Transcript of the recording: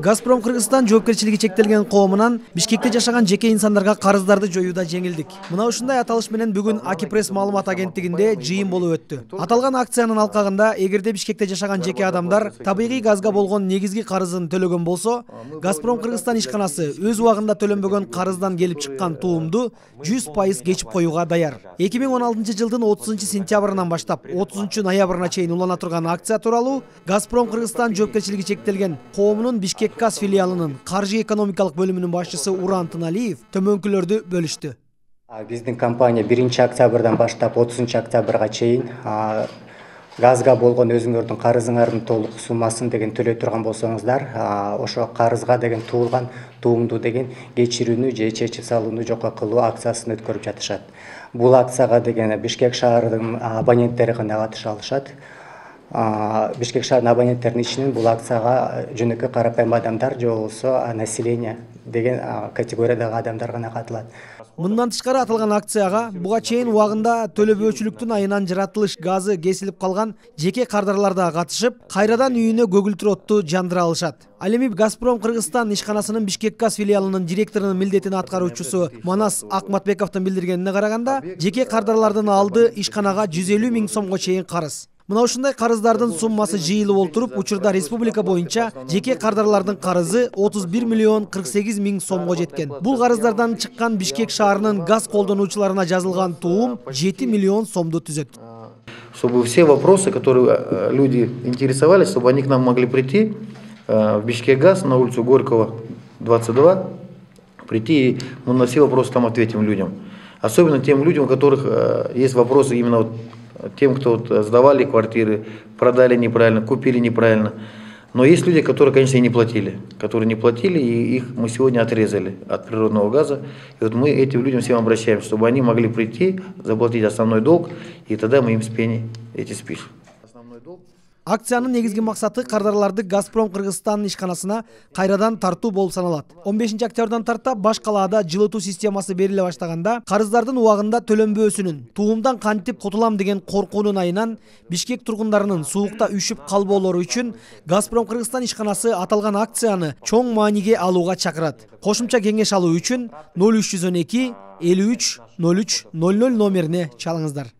Газпром Кыргызстан жоопкерчилиги чектелген коомунан Бишкекте жашаган жеке инсандарга карыздарды жоюуда жеңилдик. Мына ушундай аталыш менен бүгүн Акипресс маалымат агенттигинде жыйын болуп өттү. Аталган акциянын алкагында эгерде Бишкекте жашаган жеке адамдар табигый газга болгон негизги карызын төлөгөн болсо, Газпром Кыргызстан ишканасы өз убагында төлөнбөгөн карыздан келип чыккан туумду 100% кечип коюуга даяр. 2016 жылдын 30 сентябрынан баштап 30 ноябрына чейин улана турган акция тууралуу Газпром Кыргызстан жоопкерчилиги чектелген коомунун Бишкек газ филиалынын каржы экономикалык бөлүмүнүн башчысы Уран Тыналиев төмөнкүлөрдү бөлүштү. Биздин компания 1 октябрдан баштап 30 октябрга чейин газга болгон өзүңөрдүн карызыңардын толук суммасын деген төлөй турган болсоңуздар, ошо карызга деген туулган туумду деген кечирүүнү же чечип салууну жокко кылуу акциясын өткөрүп жатышат. Бул акцияга деген Бишкек шаарынын абоненттери гана катыша алышат. Бишкек шаарынын абоненттеринин ичинен бул акцияга жөнөкөй карапайым адамдар же болбосо население деген категориядагы адамдар гана катылат. Мындан тышкары аталган акцияга буга чейин убагында төлөбөөчүлүктүн айынан жаратылыш газы кесилип калган жеке кардарлар да катышып, кайрадан үйүнө көгүлтүр отту жандыра алышат. Ал эми Газпром Кыргызстан ишканасынын Бишкек газ филиалынын директорунун милдетин аткаруучусу Манас Акматбековдун билдиргенине караганда, жеке кардарлардын алды ишканага 150 000 сомго чейин карыз. Мына ушундай карыздардын суммасы жыйылып олтуруп, учурда республика боюнча жеке кардарлардын карызы 31 48 000 сомго жеткен. Бул карыздардан чыккан Бишкек шаарынын газ колдонуучуларына жазылган туум 7 миллион сомду түзөт. Чтобы все вопросы, которые люди интересовались, чтобы они к нам могли прийти в Бишкек газ на улицу Горького, 22, прийти и мы на все вопросы там ответим людям. Особенно тем людям, у которых есть вопросы именно тем, кто сдавали квартиры, продали неправильно, купили неправильно. Но есть люди, которые, конечно, и не платили. И их мы сегодня отрезали от природного газа. И вот мы этим людям всем обращаемся, чтобы они могли прийти, заплатить основной долг, и тогда мы им эти спишем. Акциянын негизги максаты кардарларды Газпром Кыргызстан ишканасына кайрадан тартуу болуп саналат. 15 октябрдан тарта баш калаада жылытуу системасы бериле баштаганда, карыздардын убагында төлөнбөөсүнүн, туумдан кантип кутулам деген коркуунун айынан Бишкек тургундарынын суукта үшүп калбоолору үчүн Газпром Кыргызстан ишканасы аталган акцияны чоң мааниге алууга чакырат. Кошумча кеңеш алуу үчүн 0312 53 03 00 номерине чалыңыздар.